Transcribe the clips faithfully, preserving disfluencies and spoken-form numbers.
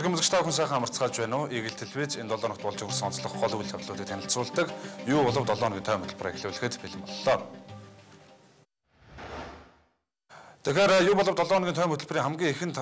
Иргэн музыкч та хүн сайхан амарцгааж байна уу? Игэл телевиз энэ долоо ногт болж өгсөн онцлог гол үйл явдлуудыг танилцуулдаг. Юу болов долоо хоногийн тайм хөтөлбөр эхлүүлэхэд бэлэн боллоо. Тэгэхээр юу болов долоо хоногийн тайм хөтөлбөрийн хамгийн ихэнд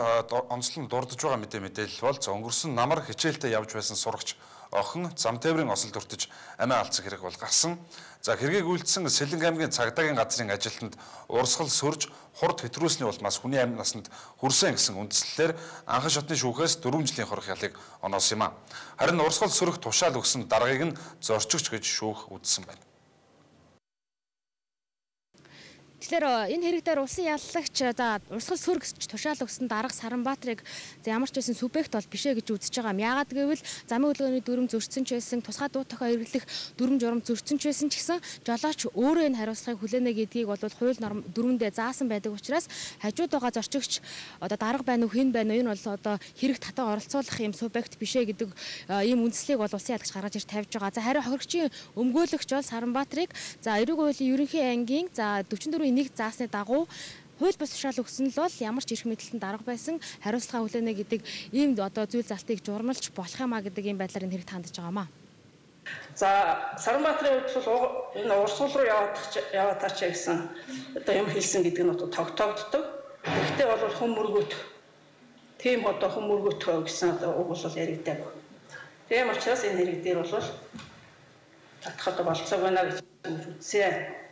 онцлог нь дурдж байгаа мэдээ мэдээлэл бол за өнгөрсөн намар хичээлдээ явж байсан сурагч охин зам тээврийн осол дуртаж амиа алдсан хэрэг бол гарсан. За хэргийг үйлдсэн Сэлэнг аймгийн цагдаагийн газрын ажилтнанд урсгал сөрж хурд хэтрүүлсний улмаас хүний амь насанд хүрсэн гэсэн үндслэлээр анхан шатны шүүхээс дөрвөн жилийн хорих ялыг оноосон юм а. Харин урсгал сөрөх тушаал өгсөн даргаыг нь зорчигч гэж шүүх үзсэн байна. Тэгэхээр энэ хэрэг дээр улсын яллагч за урсгал сөрөг гэж тушаал өгсөн дарга Саранбаатрыг ямар ч байсан субъект бол бишээ гэж үзэж байгаа юм. Яагаад гэвэл замын хөдөлгөөний дүрм зөрчсөн ч байсан, тусгай дуу тохио эргэлэх дүрм журам зөрчсөн ч байсан ч гэсэн жолооч өөрөө энэ хариуцлагыг хүлээнэ гэдгийг бол хууль норм дүрмэндээ заасан байдаг учраас хажууд байгаа зорчигч одоо дарга байна уу, хэн байна уу, энэ бол одоо хэрэг татан оролцуулах юм субъект бишээ гэдэг ийм үндслийг бол улсын яллагч гаргаж ирж тавьж байгаа. За харин хохирогчийн өмгөөлөгч бол Саранбаатрыг за эрэг хуулийн ерөнхий ангийн за дөрвөн нэг заасны дагуу хууль бус тушаал өгсөн л бол ямар ч эрх мэдэлтэн дарга байсан хариуцлага хүлээнэ гэдэг ийм одоо зүйл залтыг журмалж болох юмаа гэдэг ийм байдлаар энэ хэрэг хандж байгаа маа. За Саранбаатрын хувьд бол энэ урсгал руу яваад яваад тачаа гэсэн одоо юм хэлсэн гэдэг нь одоо тогтоогддог. Гэхдээ бол хүм мөргөт тийм одоо хүм мөргөт гэсэн одоо үг бол яригдаг. Тийм учраас энэ хэрэг дээр бол татах одоо болцоог байна гэж үзсэн.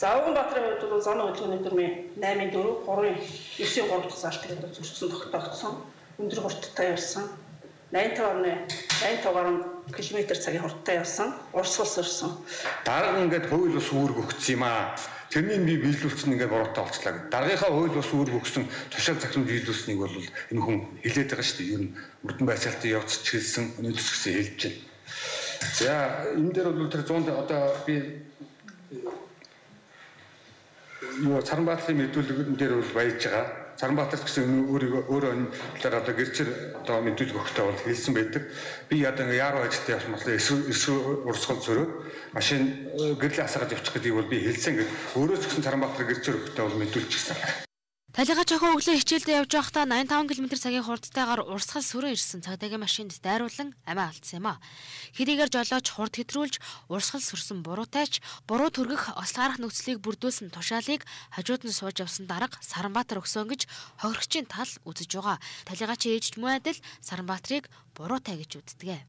За Авганбаатрын хувьд бол замын хөдөлгөөний дүрмийн наймын дөрөв, гурван, девсийн гурав дахь залтыг одоо зөрчсөн тогтоогдсон. Өндөр хурдтай явсан. найнтай гаруй км цагийн хурдтай явсан. Урсгал сөрсөн. Дарга ингээд хууль бус үүрэг өгсөн юм аа. Тэрнийг би биелүүлсэн ингээд буруутай болчлаа гэдэг. Даргийнхаа хууль бус үүрэг өгсөн тушаал захирам биелүүлсэнийг бол энэ хүн хэлээд байгаа шүү дээ. Ер нь мөрдөн байцаалтын явц чиглэсэн өнөөдөр ч гэсэн хэлж байна. За энэ дээр бол тэр зуунд одоо би юу Саранбаатрын мэдүүлэгэн дээр бол баяж байгаа. Саранбаатар гэсэн өөрийгөө өөрөө энэ талаар одоо гэрчээр одоо мэдүүлэг өгөхтэй бол хэлсэн байдаг. Би одоо ингээ яаруу ажилтаа явсан болохоор эсвэл урсгал зөрөөд машин гэрлээ асгаад явчих гэдгийг бол би хэлсэн гэдэг. Өөрөө ч гэсэн Саранбаатар гэрчээр өгөхтэй бол мэдүүлчихсэн. Талигаа жохоо өглөө хичээлдээ явж байхдаа найман таван км цагийн хурдтайгаар урсгал сүрэн ирсэн цагдаагийн машинд дайруулан амиа алдсан юм а. Хэрийгээр жолооч хурд хэтрүүлж урсгал сүрсэн буруутайч буруу төргөх ослгарах нөхцөлийг бүрдүүлсэн тушаалыг хажууд нь сууж явсан дарга Саранбаатар өгсөн гэж хохирогчийн тал үзэж байгаа. Талигаачийн ээж мөн адил Саранбаатрыг буруутай гэж үздэг.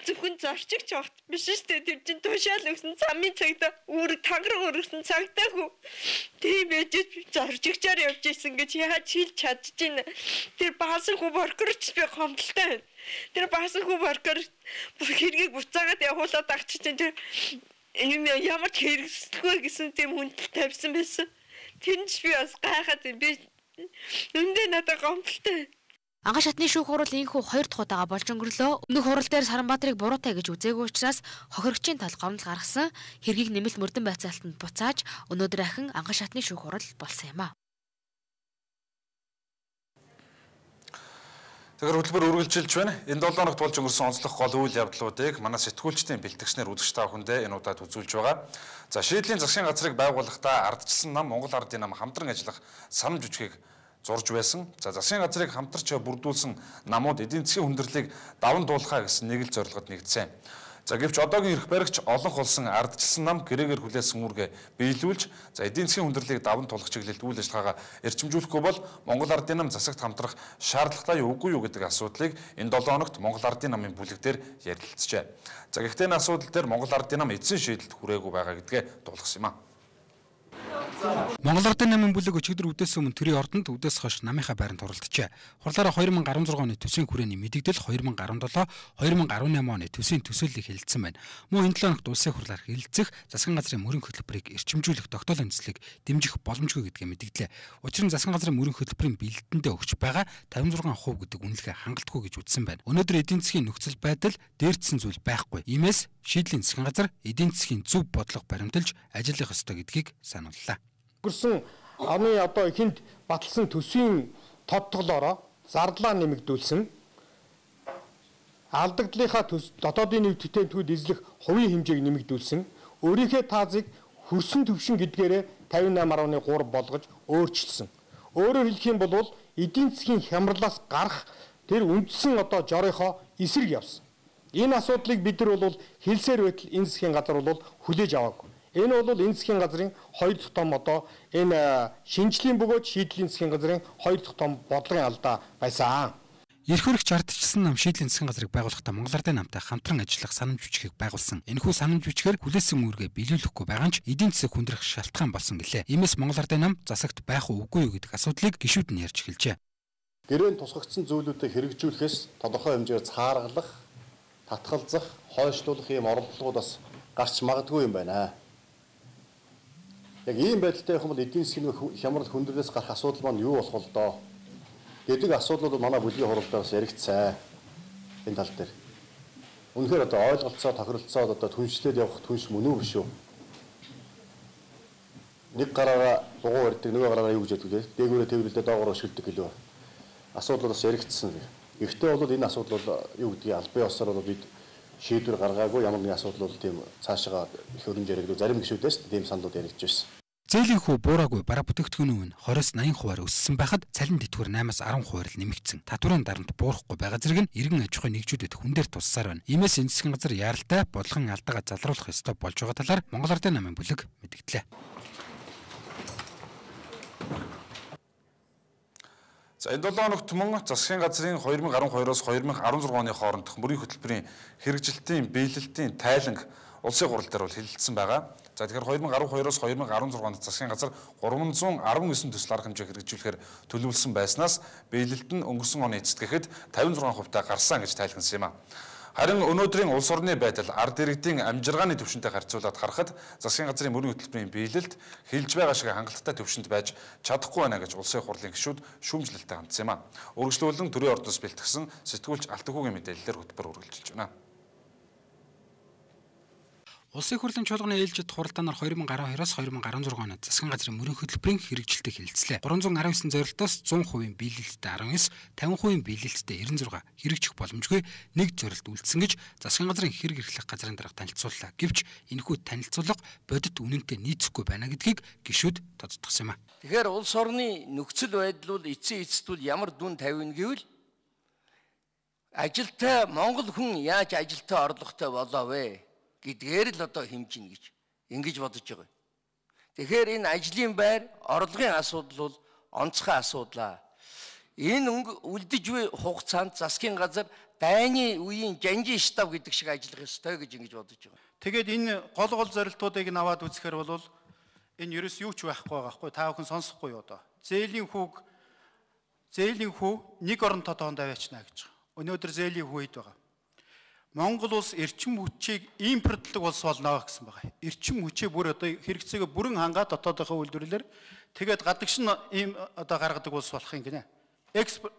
Зөвхөн зорчигч огт биш шүү дээ. Тэр чин тушаал өгсөн замын цагта үүрэг тангараг өргөсөн цагтаа хүү. Тийм байж зорчигчаар явж исэн гэж яаж хэлж чадж байна. Тэр баасан хүү боркорч би гомдолтой байна. Тэр баасан хүү боркор хэргийг буцаагаад явуулаад агч чинь тэр ямар ч хэрэгсэлгүй гэсэн тийм хүнд тавьсан байсан. Тэр нь ч би бас гайхаад би өндөө надад гомдолтой. Анхан шатны шүүх хурал инхүү хоёр дахь удаага болж өнгөрлөө. Өмнөх хурал дээр Саранбаатрыг буруутай гэж үзээгүй учраас хохирогчийн тал гомдол гаргасан. Хэргийг нэмэлт мөрдөн байцаалтанд буцааж өнөөдөр ахин анхан шатны шүүх хурал болсон юм а. Тэгэхээр хөтөлбөр үргэлжилж байна. Энэ долоо ногт болж өнгөрсөн онцлог гол үйл явдлуудыг манай сэтгүүлчдийн бэлтгэгчнэр үзэгч та бүхэндээ энэ удаад үзүүлж байгаа. За шийдлийн засгийн газрыг байгуулахдаа ардчилсан нам Монгол Ардын нам хамтран ажиллах санамж жүжигийг зурж байсан. За засгийн газрыг хамтарч бүрдүүлсэн намууд эдийн засгийн хүндрэлийг даван туулахаа гэсэн нэг л зорилгод нэгдсэн. За гэвч одоогийн эрх баригч олонх болсон ардчилсан нам гэрээгээр хүлээсэн үүргээ биелүүлж за эдийн засгийн хүндрэлийг даван туулах чиглэлд үйл ажиллагаагаа эрчимжүүлэхгүй бол Монгол Ардын нам засагт хамтрах шаардлагатай юу үгүй юу гэдэг асуудлыг энэ долоо хоногт Монгол Ардын намын бүлэг дээр ярилцжээ. За гэхдээ энэ асуудал дээр Монгол Ардын нам эзэн шийдэлд хүрээгүй байгаа гэдгээ дуулгасан юм а. Монгол Ардын намын бүлэг өчигдөр үдээс өмнө төрийн ордонд үдээс хойш намынхаа байранд оролцжээ. Хурлаараа хоёр мянга гаруй зургааны төсвийн хүрээний мэдэгдэл хоёр мянга гаруй долоо хоёр мянга гаруй найман оны төсвийн төсөөллийг хэлэлцсэн байна. Мөн энэ долоо хоногт улсын хурлаар хэлэлцэх засгийн газрын мөрөн хөтөлбөрийг эрчимжүүлэх тогтоолын төслийг дэмжих боломжгүй гэдгээ мэдэгдлээ. Учир нь засгийн газрын мөрөн хөтөлбөрийн бэлдэндээ өгч байгаа тавин зургаан хувь гэдэг үнэлгээ хангалтгүй гэж үзсэн байна. Өнөөдөр эдийн засгийн нөхцөл байдал дээрдсэн зүйл байхгүй. Иймээс шийдлийн засгийн газар эдийн засгийн зөв бодлого баримталж ажиллах ёстой гэдгийг санууллаа. Гэрсэн оны одоо ихэнд баталсан төсвийн тодтоглоороо зардлаа нэмэгдүүлсэн алдагдлынхаа дотоодын нийт тэтгэврүүд эзлэх хувийн хэмжээг нэмэгдүүлсэн өөрийнхөө таазыг хөрсөн төвшин гэдгээрээ тавин найман гаруй гурав болгож өөрчилсөн. Өөрөөр хэлэх юм бол эдийн засгийн хямралаас гарах тэр үндсэн одоо жорийнхоо эсрэг явсан. Энэ асуудлыг бид нар бол хэлсээр байтал энэ засгийн газар бол хүлээж аваагүй. Энэ бол энэ засгийн газрын хоёр дахь том одоо энэ шинжлэлийн бөгөөд шийдлийн засгийн газрын хоёр дахь том бодлогын алдаа байсан. Эрх хөрөгч ардчилсан нам шийдлийн засгийн газрыг байгуулахдаа Монгол Ардын намтай хамтран ажиллах санамж бичгийг байгуулсан. Энэхүү санамж бичгээр хүлээсэн үүргээ биелүүлэхгүй байгаа нь ч эдийн засаг хүндрэх шалтгаан болсон гэлээ. Иймээс Монгол Ардын нам засагт байх уу үгүй юу гэдэг асуудлыг гишүүд нь ярьж эхэлжээ. Гэрээнд тусгагдсан зүйлүүдийг хэрэгжүүлэхээс тодорхой хэмжээр цааргалах, татгалзах, хойшлуулах ийм оролдлогууд бас гарч магадгүй юм байна. Яг ийм байдалтай явах юм бол эдийн засгийн хямрал хүндрэлээс гарах асуудал маань юу болох вэ доо? Гэдэг асуудлууд манай бүлгийн хуралдаас яригдсан энэ тал дээр. Үнэхээр одоо ойлголцоо тохиролцоод одоо түншлээд явах түнш мөн үү биш үү? Нэг гараараа дугуй барьдаг, нөгөө гараараа юу гэж яддаг вэ? Дээгүүрээ тэрвэрлдээ доогоор өшгөлдөг гэлөө. Асуудлуудаас яригдсан. Гэхдээ бол энэ асуудал бол юу гэдгийг аль бие осоор бол бид шийдвэр гаргаагүй, ямар нэгэн асуудал бол тийм цаашаа их өрнж яригддаг. Зарим гишүүдээс тийм саналууд яригдж байсан. Зээлийн хүү буураагүй бараа бүтээгдэхүүн нь двадцать восемь хувиар өссөн байхад цалин тэтгэвэр восемь-аас десять хувиар л нэмэгдсэн. Татварын дарамт буурахгүй байгаа зэрэг нь иргэн аж ахуйн нэгжүүдэд хүн дээр туссаар байна. Иймээс энэ засгийн газар яаралтай бодлогын алдаагаа залруулах ёстой болж байгаа талаар Монгол Ардын намын бүлэг мэдгдлээ. За энэ долоо хоногт мөн засгийн газрын two thousand twelve-оос two thousand sixteen оны хоорондох мөрийн хөтөлбөрийн хэрэгжилтийн биелэлтийн тайланг улсын хурал дээр бол хэлэлцсэн байгаа. За тэгэхээр two thousand twelve-оос two thousand sixteen онд засгийн газар three hundred nineteen төсөл арга хэмжээ хэрэгжүүлэхээр төлөвлөсөн байснаас биелэлт нь өнгөрсөн оны эцэст гэхэд fifty-six хувитай гарсан гэж тайлбарсан юм а. Харин өнөөдрийн улс орны байдал ард иргэдийн амжиргааны түвшинтэй харьцуулаад харахад засгийн газрын мөрийн хөтөлбөрийн биелэлт хэлж байгаа шиг хангалттай түвшинд байж чадахгүй байна гэж улсын хурлын гишүүд шүүмжлэлтэй хандсан юм а. Үргэлжлүүлэн төрийн ордоос бэлтгэсэн сэтгүүлч Алтүхүүгийн мэдээлэлээр хөтөлбөр үргэлжилж байна. Улсын хурлын чуулганы ээлжид хуралдаанаар two thousand twelve-оос two thousand sixteen онд засгийн газрын мөрийн хөтөлбөрийн хэрэгжилтийг хэлэлцлээ. three hundred nineteen зорилтоос one hundred percent биелэлттэй nineteen, fifty percent биелэлттэй ninety-six хэрэгжих боломжгүй нэг зорилт үлдсэн гэж засгийн газрын хэрэг эрхлэх газрын дарга танилцууллаа. Гэвч энэхүү танилцуулга бодит үнэнтэй нийцэхгүй байна гэдгийг гишүүд тодтогсон юм а. Тэгэхээр улс орны нөхцөл байдал бол эцсийн эцэст ямар дүн тавина гэвэл ажилтай Монгол хүн яаж ажилтай орлоготой болоо вэ гэдгээр л одоо хэмжинэ гэж ингэж бодож байгаа. Тэгэхээр энэ ажлын байр, орлогын асуудал бол онцгой асуудал. Энэ үлдэж буй хугацаанд засгийн газар дайны үеийн жанжин штаб гэдэг шиг ажиллах ёстой гэж ингэж бодож байгаа. Тэгээд энэ гол гол зорилтуудыг нь аваад үзэхээр бол энэ ерөөс юу ч байхгүй байгаа хгүй та бүхэн сонсохгүй юу одоо. Зээлийн хүүг зээлийн хүү нэг орон тодоонд аваачна гэж байгаа. Өнөөдөр зээлийн хүү хэд байгаа. Монгол улс эрчим хүчийг импортлог улс болно гэсэн байгаа. Эрчим хүчээ бүр одоо хэрэгцээгээ бүрэн хангаад дотоодынхаа үйлдвэрлэлээр тэгээд гадагш нь ийм одоо гаргадаг улс болох юм гинэ. Экспорт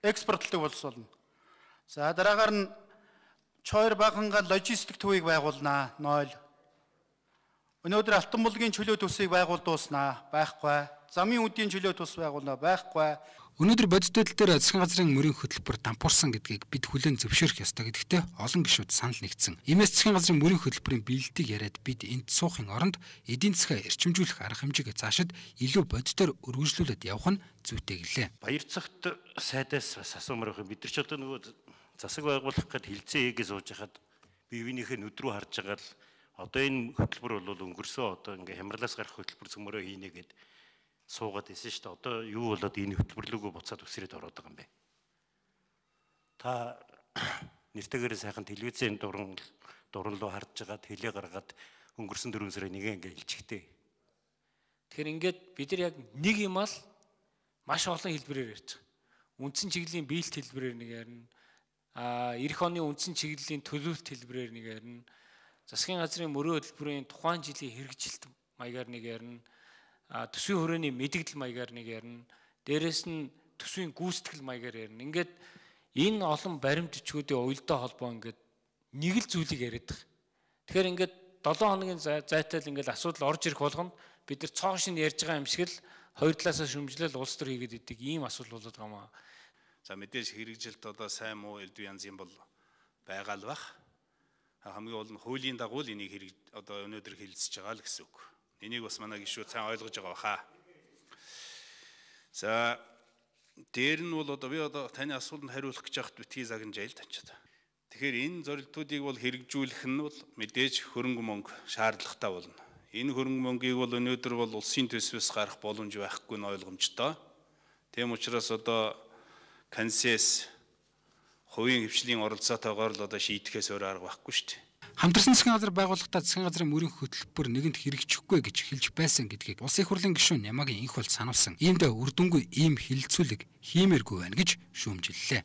экспортлог улс болно. За дараагаар нь чойр баганга логистик төвийг байгуулнаа. Нойл. Өнөөдөр алтан булгийн чөлөө төсвийг байгуулдууснаа. Байхгүй. Замын үдийн чөлөө төс байгуулнаа. Байхгүй. Өнөөдөр бодит байдал дээр засгийн газрын мөрийн хөтөлбөр дампуурсан гэдгийг бид хүлээн зөвшөөрөх ёстой гэдэгтээ олон гишүүд санал нэгдсэн. Иймээс засгийн газрын мөрийн хөтөлбөрийн биелэлтийг яриад бид энд суухын оронд эдийн засгаа эрчимжүүлэх арга хэмжээгээ заашид илүү бодитоор өргөжлүүлээд явах нь зүйтэй гэлээ. Баяр цагт сайдаас бас асуумаар байх. Бид нар ч одоо нөгөө засаг байгуулах гэхэд хилцээ хийгээ сууж хахад бие биенийхээ нүд рүү харж байгаа л одоо энэ хөтөлбөр бол өнгөрсөн одоо ингээ хямралаас гарах хөтөлбөр цөмөрөө хийнэ гэд суугаад исэн шүү дээ. Одоо юу болоод энэ хөтөлбөрлөгөө буцаад үсрээд ороод байгаа юм бэ? Та нэртэйгээр сайхан телевизийн дуран дуран руу харж байгаад хэлээ гаргаад өнгөрсөн дөрвөн сарын нэгэн ингээ хэлчихтэй. Тэгэхээр ингээд бид нар яг нэг юм ал маш олон хэлбэрээр ярьж байгаа. Үндсэн чиглэлийн биелэлт хэлбэрээр нэг ярина. Аа эх оны үндсэн чиглэлийн төлөвлөлт хэлбэрээр нэг ярина. Засгийн газрын мөрөө хөтөлбөрийн тухайн жилийн хэрэгжилт маягаар нэг ярина. Төсвийн хүрээний мэдэгдэл маягаар нэг ярина. Дээрээс нь төсвийн гүйцэтгэл маягаар ярина. Ингээд энэ олон баримт бичгүүдийн уялдаа холбоо ингээд нэг л зүйлийг яриад байгаа. Тэгэхээр ингээд seven хоногийн зайтай л ингээд асуудал орж ирэх болгонд бид нар цоошин ярьж байгаа юм шиг л хоёр талаасаа шүмжлэл улс төр хийгээд идэг ийм асуудал болоод байгаа юм аа. За мэдээж хэрэгжилт одоо сайн муу элдв янзын бол байгаа л бах. Хамгийн гол нь хуулийн дагуу л энийг хэрэг одоо өнөөдөр хэлэлцэж байгаа л гэсэн үг. Энийг бас манай гишүүд сайн ойлгож байгаа баха. За дээр нь бол одоо би одоо таны асуултанд хариулах гэж байхад битгий загнажайл танчаад. Тэгэхээр энэ зорилтуудыг бол хэрэгжүүлэх нь бол мэдээж хөрөнгө мөнгө шаардлагатай болно. Энэ хөрөнгө мөнгийг бол өнөөдөр бол улсын төсвөөс гарах боломж байхгүй нь ойлгомжтой. Тийм учраас одоо консес хувийн хвшлийн оролцоотойгоор л одоо шийдэхээс өөр арга байхгүй шүү дээ. Хамтарсан засгийн газар байгууллагатай засгийн газрын мөрийн хөтөлбөр нэгэнд хэрэгжихгүй гэж хэлж байсан гэдгийг Улсын их хурлын гишүүн Нямагийн инх бол сануулсан. Иймд үр дүнгүй ийм хилцүүлэг хиймээргүй байна гэж шүүмжиллээ.